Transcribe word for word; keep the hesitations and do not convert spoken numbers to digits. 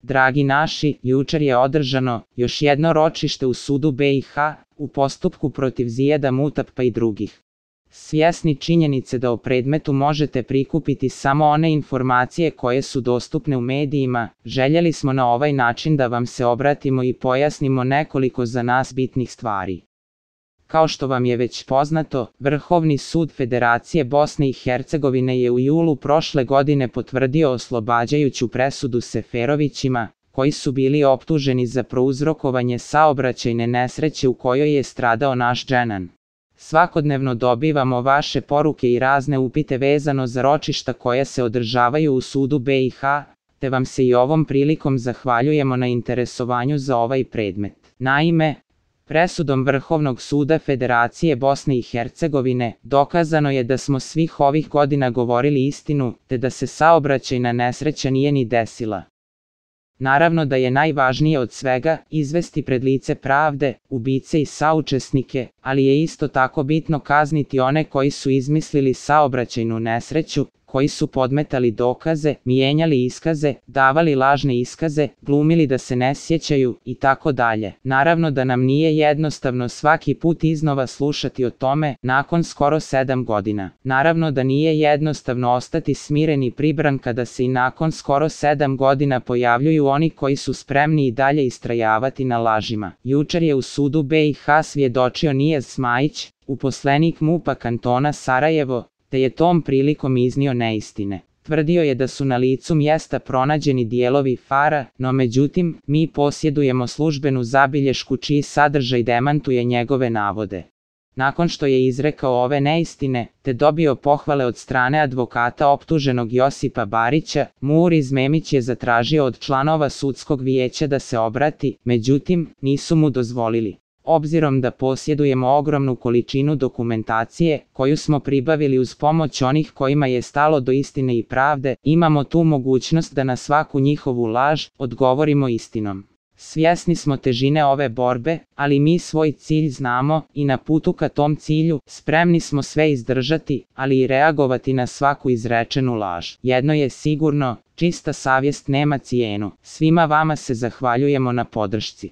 Dragi naši, jučer je održano još jedno ročište u sudu be i ha u postupku protiv Zijada Mutapa i drugih. Svjesni činjenice da o predmetu možete prikupiti samo one informacije koje su dostupne u medijima, željeli smo na ovaj način da vam se obratimo i pojasnimo nekoliko za nas bitnih stvari. Kao što vam je već poznato, Vrhovni sud Federacije Bosne i Hercegovine je u julu prošle godine potvrdio oslobađajuću presudu Seferovićima, koji su bili optuženi za prouzrokovanje saobraćajne nesreće u kojoj je stradao naš Dženan. Svakodnevno dobivamo vaše poruke i razne upite vezano za ročišta koja se održavaju u sudu be i ha, te vam se i ovom prilikom zahvaljujemo na interesovanju za ovaj predmet. Naime, presudom Vrhovnog suda Federacije Bosne i Hercegovine dokazano je da smo svih ovih godina govorili istinu, te da se saobraćajna nesreća nije ni desila. Naravno da je najvažnije od svega izvesti pred lice pravde ubice i saučesnike, ali je isto tako bitno kazniti one koji su izmislili saobraćajnu nesreću, koji su podmetali dokaze, mijenjali iskaze, davali lažne iskaze, glumili da se ne sjećaju i tako dalje. Naravno da nam nije jednostavno svaki put iznova slušati o tome nakon skoro sedam godina. Naravno da nije jednostavno ostati smiren i pribran kada se i nakon skoro sedam godina pojavljuju oni koji su spremni i dalje istrajavati na lažima. Jučer je u sudu be i ha svjedočio Nijaz Smajić, uposlenik MUP-a kantona Sarajevo, te je tom prilikom iznio neistine. Tvrdio je da su na licu mjesta pronađeni dijelovi fara, no međutim, mi posjedujemo službenu zabilješku čiji sadržaj demantuje njegove navode. Nakon što je izrekao ove neistine, te dobio pohvale od strane advokata optuženog Josipa Barića, Muriz Memić je zatražio od članova sudskog vijeća da se obrati, međutim, nisu mu dozvolili. Obzirom da posjedujemo ogromnu količinu dokumentacije, koju smo pribavili uz pomoć onih kojima je stalo do istine i pravde, imamo tu mogućnost da na svaku njihovu laž odgovorimo istinom. Svjesni smo težine ove borbe, ali mi svoj cilj znamo i na putu ka tom cilju spremni smo sve izdržati, ali i reagovati na svaku izrečenu laž. Jedno je sigurno, čista savjest nema cijenu. Svima vama se zahvaljujemo na podršci.